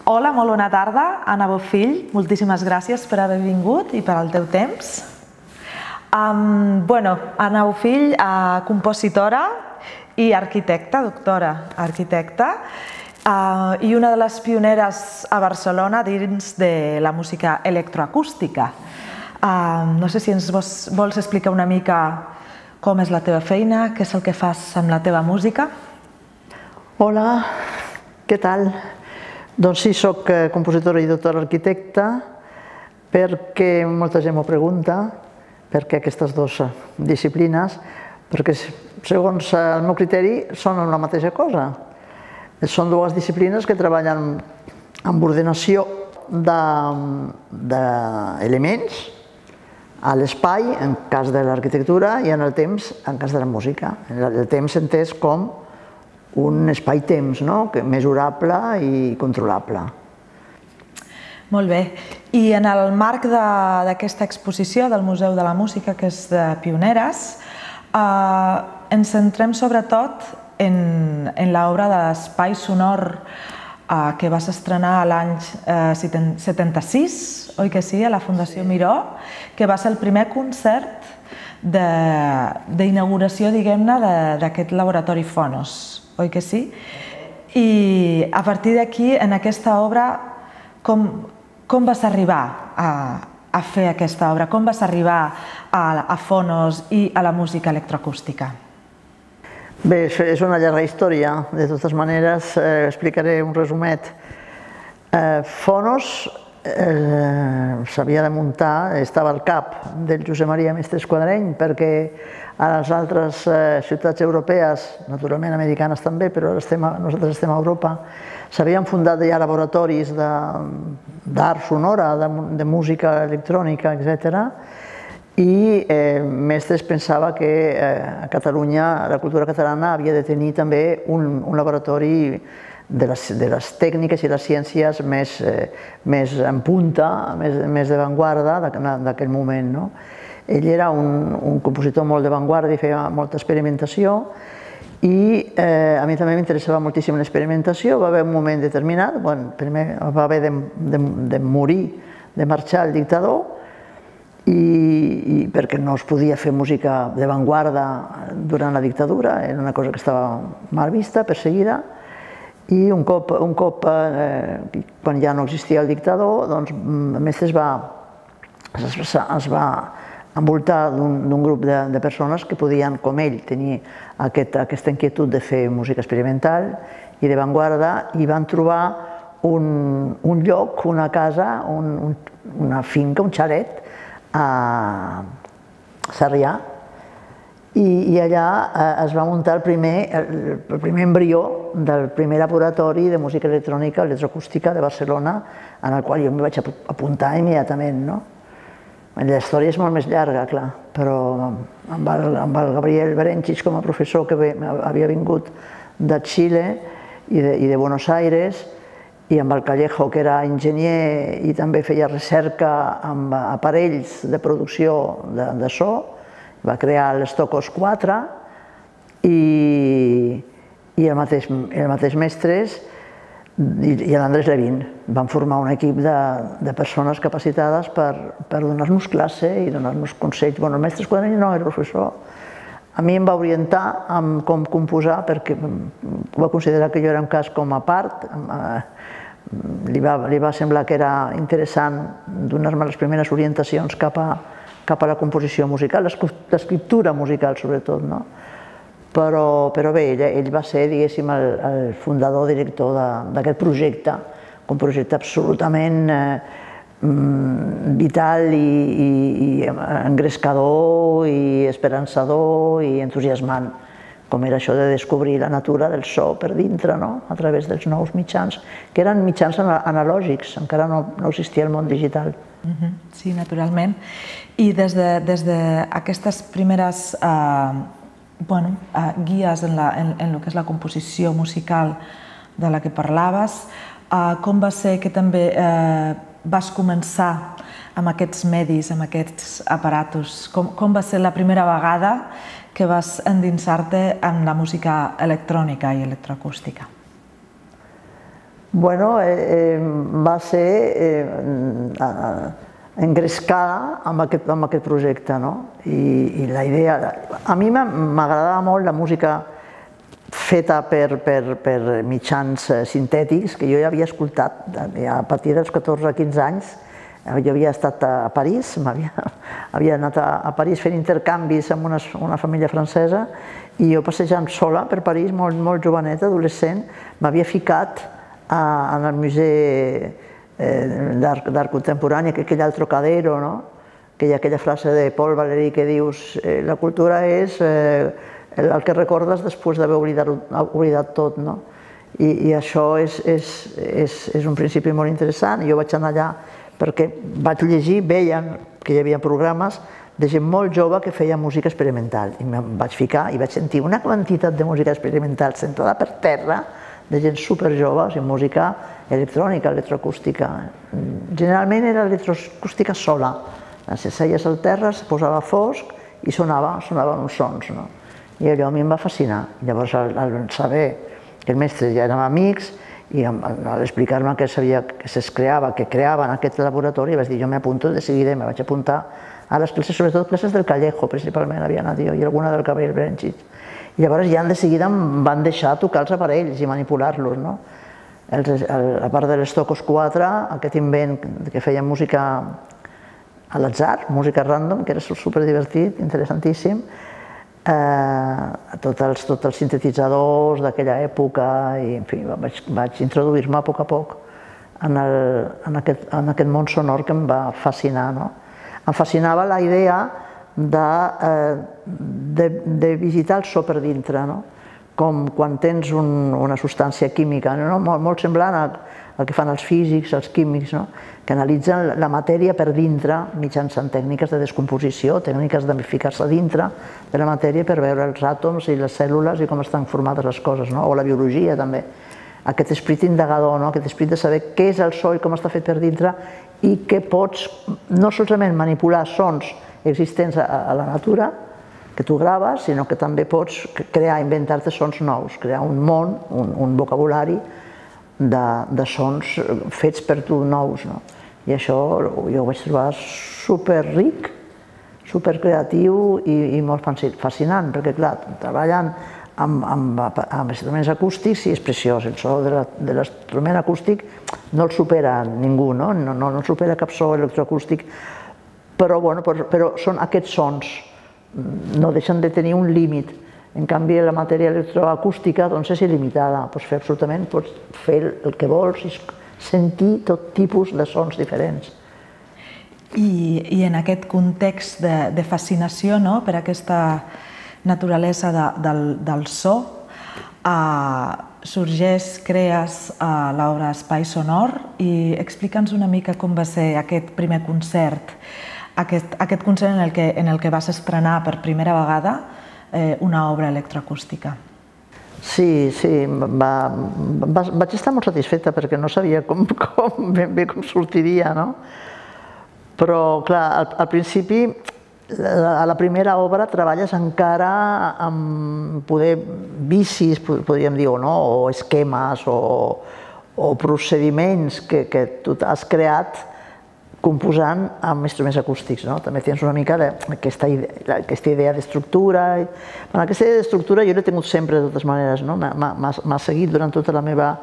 Hola, molt bona tarda. Anna Bofill, moltíssimes gràcies per haver vingut i per al teu temps. Anna Bofill, compositora i arquitecta, doctora arquitecta, i una de les pioneres a Barcelona dins de la música electroacústica. No sé si ens vols explicar una mica com és la teva feina, què és el que fas amb la teva música? Hola, què tal? Doncs sí, soc compositora i doctora arquitecta perquè molta gent m'ho pregunta, per què aquestes dues disciplines, perquè segons el meu criteri són la mateixa cosa. Són dues disciplines que treballen amb ordenació d'elements a l'espai, en cas de l'arquitectura, i en el temps, en cas de la música. El temps entès com un espai-temps mesurable i controlable. Molt bé. I en el marc d'aquesta exposició del Museu de la Música, que és de pioneres, ens centrem sobretot en l'obra d'Espai Sonor que vas estrenar l'any 76, oi que sí, a la Fundació Miró, que va ser el primer concert d'inauguració, diguem-ne, d'aquest laboratori Fonos, oi que sí? I a partir d'aquí, en aquesta obra, com vas arribar a fer aquesta obra? Com vas arribar a Fonos i a la música electroacústica? Bé, és una llarga història. De totes maneres, explicaré un resumet. Fonos s'havia de muntar, estava al cap del Josep Maria Mestres Quadreny, perquè a les altres ciutats europees, naturalment americanes també, però nosaltres estem a Europa, s'havien fundat ja laboratoris d'art sonora, de música electrònica, etc. I Mestres pensava que a Catalunya la cultura catalana havia de tenir també un laboratori de les tècniques i les ciències més en punta, més d'avantguarda d'aquell moment. Ell era un compositor molt d'avantguarda i feia molta experimentació, i a mi també m'interessava moltíssim l'experimentació. Va haver un moment determinat, primer va haver de morir, de marxar el dictador, i perquè no es podia fer música d'avantguarda durant la dictadura, era una cosa que estava mal vista, perseguida, i un cop, quan ja no existia el dictador, doncs Mestres es va envoltar d'un grup de persones que podien, com ell, tenir aquesta inquietud de fer música experimental i d'avantguarda, i van trobar un lloc, una casa, una finca, un xalet, a Sarrià, i allà es va muntar el primer embrió del primer laboratori de música electrònica electroacústica de Barcelona, en el qual jo em vaig apuntar immediatament. La història és molt més llarga, clar, però amb el Gabriel Berenchich com a professor, que havia vingut de Xile i de Buenos Aires, i amb el Callejo, que era enginyer i també feia recerca amb aparells de producció de so, va crear l'Stokos 4, i el mateix Mestres i l'Andrés Levin van formar un equip de persones capacitades per donar-nos classe i donar-nos consells. El Mestres Quadreny no era professor. A mi em va orientar en com composar, perquè va considerar que jo era un cas com a part. Li va semblar que era interessant donar-me les primeres orientacions cap a la composició musical, l'escriptura musical sobretot. Però bé, ell va ser, diguéssim, el fundador, director d'aquest projecte, un projecte absolutament vital i engrescador i esperançador i entusiasmant, com era això de descobrir la natura del so per dintre, a través dels nous mitjans, que eren mitjans analògics, encara no existia el món digital. Sí, naturalment. I des d'aquestes primeres guies en el que és la composició musical de la que parlaves, com va ser que també vas començar amb aquests medis, amb aquests aparatos? Com va ser la primera vegada que vas endinsar-te en la música electrònica i electroacústica? Bueno, va ser engrescada amb aquest projecte, no? I la idea... A mi m'agradava molt la música feta per mitjans sintètics, que jo ja havia escoltat a partir dels 14-15 anys. Jo havia estat a París, havia anat a París fent intercanvis amb una família francesa, i jo passejant sola per París, molt joveneta, adolescent, m'havia ficat en el Museu d'Art Contemporani, aquell al Trocadero, que hi ha aquella frase de Paul Valéry que dius la cultura és el que recordes després d'haver oblidat tot. I això és un principi molt interessant. Jo vaig anar allà perquè vaig llegir, veien que hi havia programes de gent molt jove que feia música experimental. I em vaig ficar i vaig sentir una quantitat de música experimental sentada per terra, de gent superjove, o sigui, música electrònica, electroacústica. Generalment era electroacústica sola. Seies al terra, es posava fosc i sonaven uns sons. I allò a mi em va fascinar. Llavors, al saber que el mestre ja érem amics, i al explicar-me que creaven aquest laboratori, vaig dir, jo m'apunto de seguida, me vaig apuntar a les classes, sobretot classes del Callejo, principalment havia anat jo, i alguna del Gabriel Brenchich. I llavors ja de seguida em van deixar tocar els aparells i manipular-los. A part de les Tocos 4, aquest invent que feia música a l'atzar, música random, que era superdivertit, interessantíssim, tots els sintetitzadors d'aquella època, i en fi, vaig introduir-me a poc en aquest món sonor que em va fascinar. Em fascinava la idea de visitar el so per dintre, com quan tens una substància química, molt semblant al que fan els físics, els químics, que analitzen la matèria per dintre mitjançant tècniques de descomposició, tècniques de ficar-se dintre de la matèria per veure els àtoms i les cèl·lules i com estan formades les coses, o la biologia també. Aquest esperit indagador, aquest esperit de saber què és el so i com està fet per dintre, i que pots no solament manipular sons existents a la natura, que tu graves, sinó que també pots crear, inventar-te sons nous, crear un món, un vocabulari de sons fets per tu nous. I això jo ho vaig trobar superric, supercreatiu i molt fascinant, perquè clar, treballant amb instruments acústics és preciós. El so de l'instrument acústic no el supera ningú, no el supera cap so electroacústic, però són aquests sons, no deixen de tenir un límit. En canvi, la matèria electroacústica és il·limitada, pots fer absolutament, pots fer el que vols i sentir tot tipus de sons diferents. I en aquest context de fascinació per aquesta naturalesa del so, sorgeix, crees l'obra Espai Sonor, i explica'ns una mica com va ser aquest primer concert, aquest concert en el que vas estrenar per primera vegada una obra electroacústica. Sí, vaig estar molt satisfeta perquè no sabia ben bé com sortiria, però, clar, al principi, a la primera obra treballes encara amb poder vicis, podríem dir, o esquemes o procediments que tu has creat composant amb instruments acústics. També tens una mica aquesta idea d'estructura. Aquesta idea d'estructura jo l'he tingut sempre, de totes maneres. M'ha seguit durant tota la meva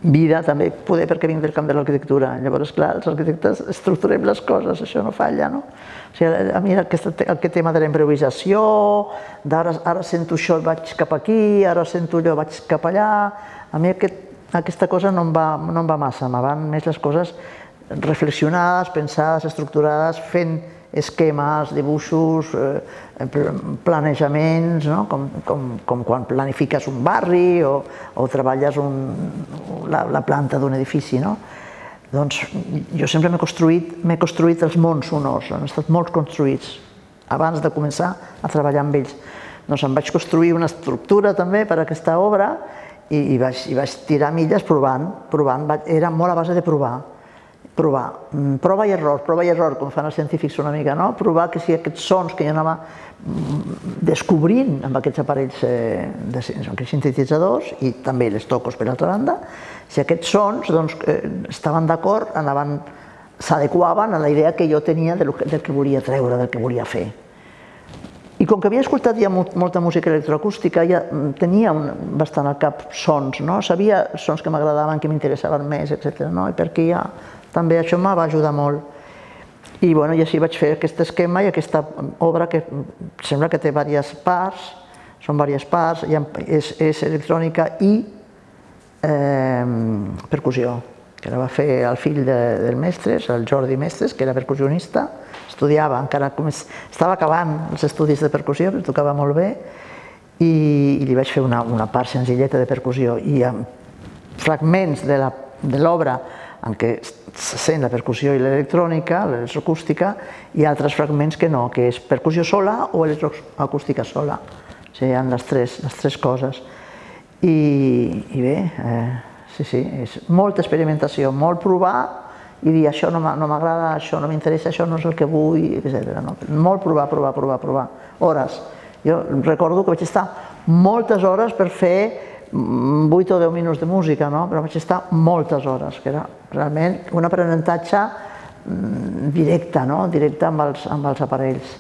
vida, també poder perquè vinc del camp de l'arquitectura. Llavors, clar, els arquitectes estructurem les coses, això no falla. A mi aquest tema de la improvisació, ara sento això i vaig cap aquí, ara sento allò i vaig cap allà, a mi aquesta cosa no em va massa, me van més les coses reflexionades, pensades, estructurades, fent esquemes, dibuixos, planejaments, com quan planifiques un barri o treballes la planta d'un edifici. Doncs jo sempre m'he construït els mons sonors, han estat molt construïts abans de començar a treballar amb ells. Doncs em vaig construir una estructura també per a aquesta obra i vaig tirar milles provant, era molt a base de provar. provar. Prova i error, com fan els científics una mica, no? Provar que si aquests sons que jo anava descobrint amb aquests aparells, aquests sintetitzadors i també les tocos per altra banda, si aquests sons estaven d'acord, s'adequaven a la idea que jo tenia del que volia treure, del que volia fer. I com que havia escoltat ja molta música electroacústica, ja tenia bastant al cap sons, sabia sons que m'agradaven, que m'interessaven més, etc. I perquè ja també això em va ajudar molt. I així vaig fer aquest esquema i aquesta obra que sembla que té diverses parts, són diverses parts, és electrònica i percussió, que la va fer el fill del Mestres, el Jordi Mestres, que era percussionista, estudiava, encara estava acabant els estudis de percussió, que tocava molt bé, i li vaig fer una part senzilleta de percussió, i amb fragments de l'obra en què se sent la percussió i l'electrònica, l'electroacústica, i altres fragments que no, que és percussió sola o electroacústica sola. O sigui, hi ha les tres coses. I bé, sí, és molta experimentació, molt provar i dir això no m'agrada, això no m'interessa, això no és el que vull, etc. Molt provar, hores. Jo recordo que vaig estar moltes hores per fer 8 o 10 minuts de música, però vaig estar moltes hores, que era realment un aprenentatge directe amb els aparells.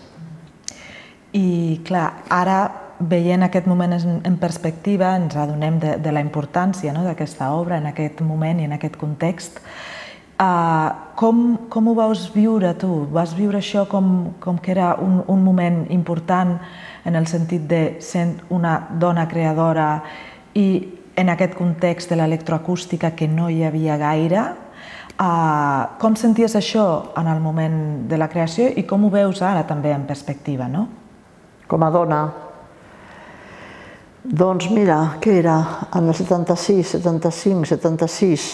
I clar, ara veient aquest moment en perspectiva ens adonem de la importància d'aquesta obra en aquest moment i en aquest context. Com ho vas viure tu? Vas viure això com que era un moment important en el sentit de ser una dona creadora i en aquest context de l'electroacústica que no hi havia gaire? Com senties això en el moment de la creació i com ho veus ara també en perspectiva? Com a dona? Doncs mira, què era? En el 76, 75, 76,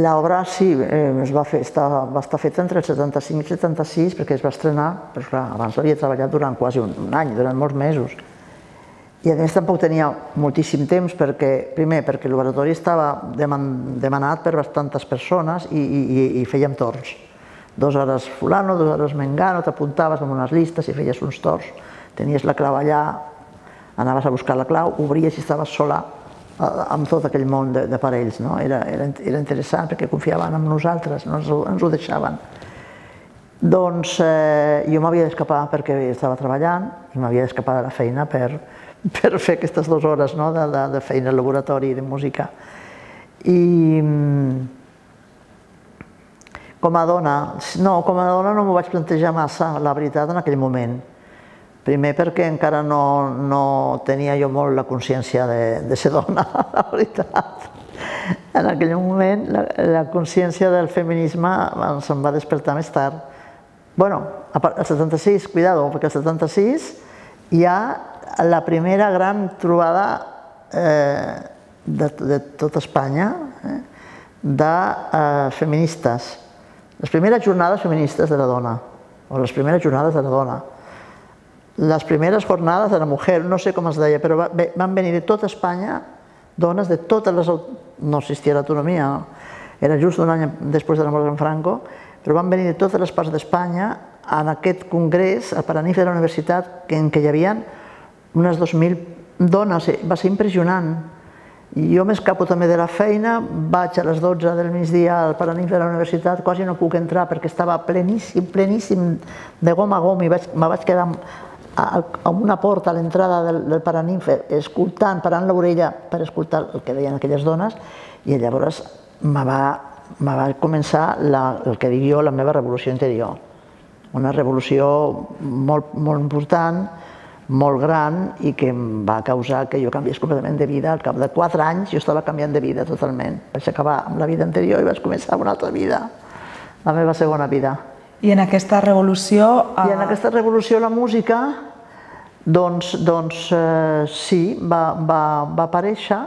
l'obra sí, va estar feta entre el 75 i el 76 perquè es va estrenar, però clar, abans l'havia treballat durant quasi un any, durant molts mesos. I a més tampoc tenia moltíssim temps primer perquè l'oratori estava demanat per bastantes persones i fèiem torns. 2 hores fulano, 2 hores mengano, t'apuntaves amb unes llistes i feies uns torns. Tenies la clau allà, anaves a buscar la clau, obries i estaves sola amb tot aquell món d'aparells. Era interessant perquè confiaven en nosaltres, ens ho deixaven. Doncs jo m'havia d'escapar perquè estava treballant i m'havia d'escapar de la feina per fer aquestes 2 hores de feina al laboratori de música. I com a dona no m'ho vaig plantejar massa, la veritat, en aquell moment. Primer perquè encara no tenia jo molt la consciència de ser dona, la veritat. En aquell moment la consciència del feminisme se'm va despertar més tard. Bueno, al 76, cuidado, perquè al 76 hi ha la primera gran trobada de tota Espanya de feministes. Les primeres jornades feministes de la dona, o les primeres jornades de la dona. Les primeres jornades de la mujer, no sé com es deia, però van venir de tota Espanya dones de totes les... No existia l'autonomia, era just un any després de la mort d'en Franco, però van venir de totes les parts d'Espanya en aquest congrés, al Paranimf de la universitat, en què hi havia unes 2.000 dones. Va ser impressionant. Jo m'escapo també de la feina, vaig a les 12 del migdia al Paranimf de la universitat, quasi no puc entrar perquè estava pleníssim de gom a gom i me vaig quedar a una porta a l'entrada del Paranimf escoltant, parant l'orella per escoltar el que deien aquelles dones, i llavors me va començar el que dic jo, la meva revolució interior. Una revolució molt important, molt gran, i que em va causar que jo canviés completament de vida. Al cap de 4 anys jo estava canviant de vida totalment. Vaig acabar amb la vida anterior i vaig començar una altra vida, la meva segona vida. I en aquesta revolució... I en aquesta revolució la música, doncs sí, va aparèixer,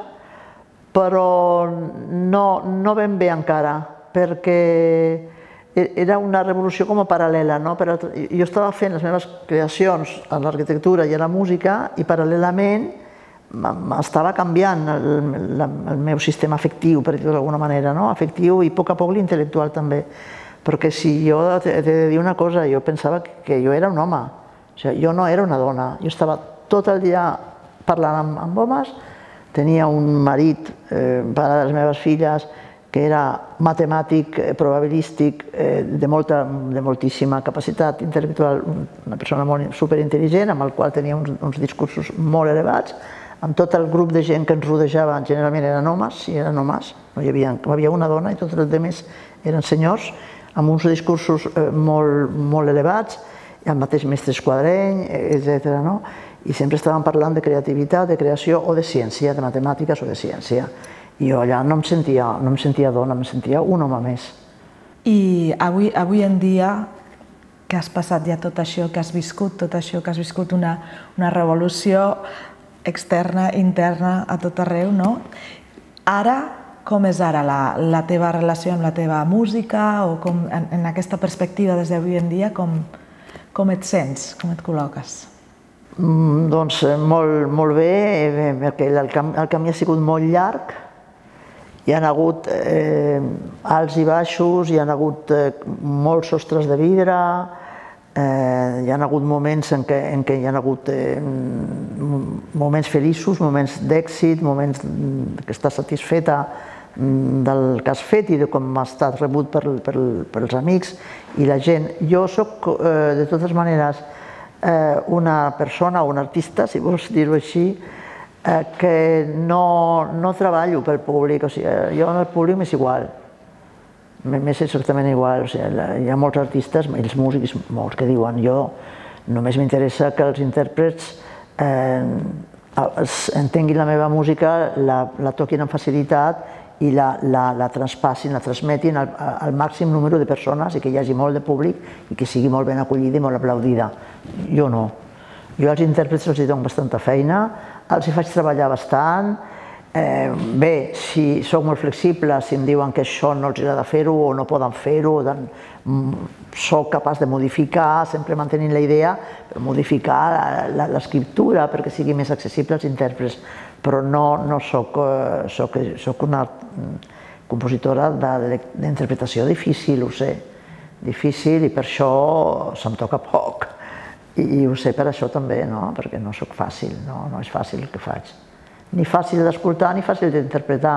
però no ben bé encara, perquè era una revolució com a paral·lela. Jo estava fent les meves creacions a l'arquitectura i a la música i paral·lelament estava canviant el meu sistema afectiu, per dir-ho d'alguna manera, afectiu i a poc l'intel·lectual també. Perquè si jo he de dir una cosa, jo pensava que jo era un home, jo no era una dona, jo estava tot el dia parlant amb homes, tenia un marit, pare de les meves filles, que era matemàtic, probabilístic, de moltíssima capacitat intel·lectual, una persona superintel·ligent, amb el qual tenia uns discursos molt elevats, amb tot el grup de gent que ens rodejava, generalment eren homes, sí, eren homes, no hi havia una dona i tots els altres eren senyors, amb uns discursos molt elevats, el mateix mestre Esquadreny, etc. I sempre estàvem parlant de creativitat, de creació o de ciència, de matemàtiques o de ciència. I jo allà no em sentia dona, em sentia un home més. I avui en dia, que has passat ja tot això que has viscut, una revolució externa, interna, a tot arreu, no? Ara, com és ara la teva relació amb la teva música o en aquesta perspectiva des d'avui en dia, com et sents, com et col·loques? Doncs molt bé, perquè el camí ha sigut molt llarg. Hi ha hagut alts i baixos, hi ha hagut molts sostres de vidre, hi ha hagut moments en què hi ha hagut moments feliços, moments d'èxit, moments que estàs satisfeta del que has fet i de com ha estat rebut pels amics i la gent. Jo soc, de totes maneres, una persona o un artista, si vols dir-ho així, que no treballo pel públic, o sigui, jo al públic m'és igual, m'és exactament igual, o sigui, hi ha molts artistes, els músics, molts que diuen, jo només m'interessa que els intèrprets entenguin la meva música, la toquin amb facilitat i la traspassin, la transmetin al màxim número de persones i que hi hagi molt de públic i que sigui molt ben acollida i molt aplaudida. Jo no. Jo als intèrprets els dono bastanta feina, els hi faig treballar bastant. Bé, si soc molt flexible, si em diuen que això no els agrada fer-ho o no poden fer-ho, soc capaç de modificar, sempre mantenint la idea, modificar l'escriptura perquè sigui més accessible als intèrprets, però no soc una compositora d'interpretació difícil, ho sé, difícil, i per això se'm toca poc. I ho sé per això també, perquè no soc fàcil, no és fàcil el que faig. Ni fàcil d'escoltar ni fàcil d'interpretar.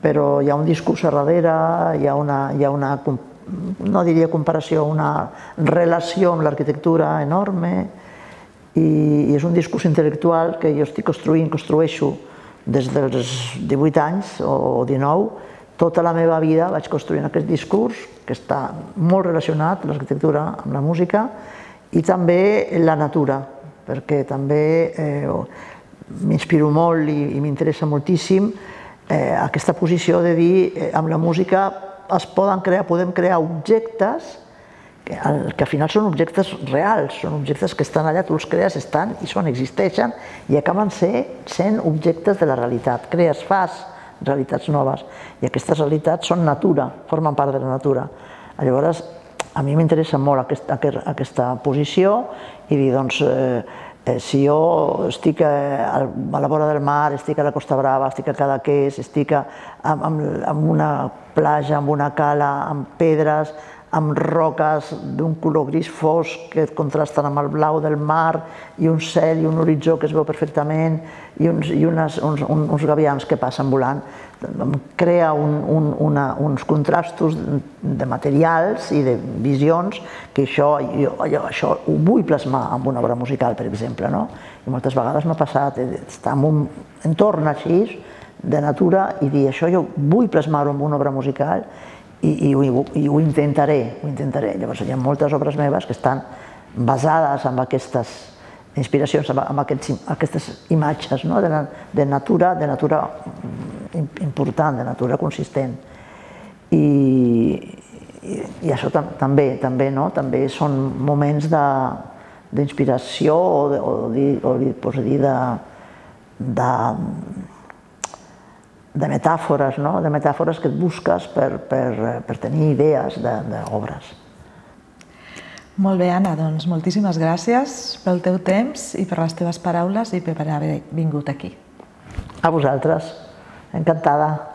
Però hi ha un discurs a darrere, hi ha una, no diria comparació, una relació amb l'arquitectura enorme i és un discurs intel·lectual que jo estic construeixo des dels 18 anys o 19. Tota la meva vida vaig construint aquest discurs que està molt relacionat, l'arquitectura, amb la música i també la natura, perquè també m'inspiro molt i m'interessa moltíssim aquesta posició de dir amb la música podem crear objectes que al final són objectes reals, són objectes que estan allà, tu els crees, estan i existeixen i acaben sent objectes de la realitat. Fas realitats noves i aquestes realitats són natura, formen part de la natura. Llavors, a mi m'interessa molt aquesta posició i dir, doncs, si jo estic a la vora del mar, estic a la Costa Brava, estic a Cadaqués, estic en una platja, en una cala, amb pedres, amb roques d'un color gris fosc que contrasten amb el blau del mar i un cel i un horitzó que es veu perfectament i uns gavians que passen volant. Crea uns contrastos de materials i de visions que això ho vull plasmar en una obra musical, per exemple. I moltes vegades m'ha passat estar en un entorn així de natura i dir això jo vull plasmar-ho en una obra musical i ho intentaré. Llavors hi ha moltes obres meves que estan basades en aquestes inspiracions, en aquestes imatges de natura important, de natura consistent. I això també són moments d'inspiració o de metàfores que et busques per tenir idees d'obres. Molt bé, Anna, doncs moltíssimes gràcies pel teu temps i per les teves paraules i per haver vingut aquí. A vosaltres, encantada.